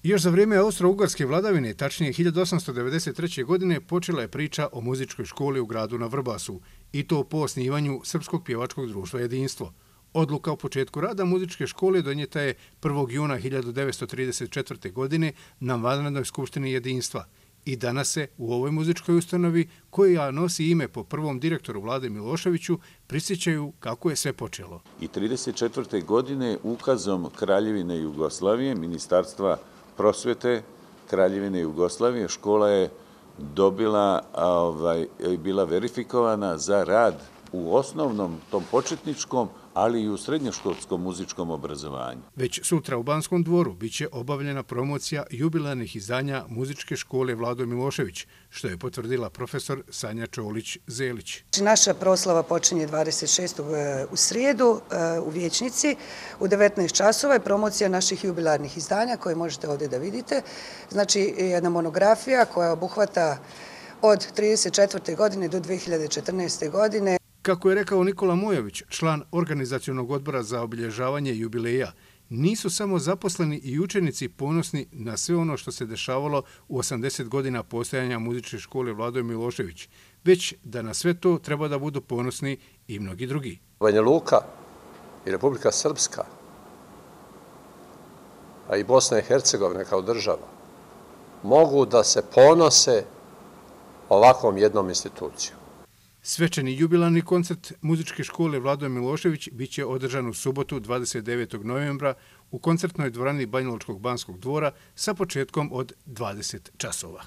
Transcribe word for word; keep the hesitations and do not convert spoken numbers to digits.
Još za vrijeme austro-ugarske vladavine, tačnije hiljadu osamsto devedeset treće. godine, počela je priča o muzičkoj školi u gradu na Vrbasu, i to po osnivanju Srpskog pjevačkog društva Jedinstvo. Odluka o početku rada muzičke škole donijeta je prvog juna hiljadu devetsto trideset četvrte. godine na vanrednoj skupštini Jedinstva. I danas se u ovoj muzičkoj ustanovi, koja nosi ime po prvom direktoru Vlade Miloševiću, prisjećaju kako je sve počelo. I trideset četvrte. godine ukazom Kraljevine Jugoslavije, Ministarstva prosvete Kraljevine Jugoslavije, škola je dobila, ovaj, bila verifikovana za rad u osnovnom, tom početničkom, ali i u srednjoškolskom muzičkom obrazovanju. Već sutra u Banskom dvoru biće obavljena promocija jubilarnih izdanja muzičke škole Vlado Milošević, što je potvrdila profesor Sanja Čolić-Zelić. Naša proslava počinje dvadeset šestog u srijedu u Vijećnici. U devetnaest časova je promocija naših jubilarnih izdanja koje možete ovdje da vidite. Znači jedna monografija koja obuhvata od trideset četvrte. godine do dve hiljade četrnaeste. godine. Kako je rekao Nikola Mojović, član organizacionog odbora za obilježavanje jubileja, nisu samo zaposleni i učenici ponosni na sve ono što se dešavalo u osamdeset godina postojanja muzičke škole Vlado Milošević, već da na sve to treba da budu ponosni i mnogi drugi. Banja Luka i Republika Srpska, a i Bosna i Hercegovina kao država, mogu da se ponose ovakvom jednom institucijom. Svečani jubilarni koncert muzičke škole Vlado Milošević biće održan u subotu dvadeset devetog novembra u koncertnoj dvorani Banjalučkog Banskog dvora sa početkom od dvadeset časova.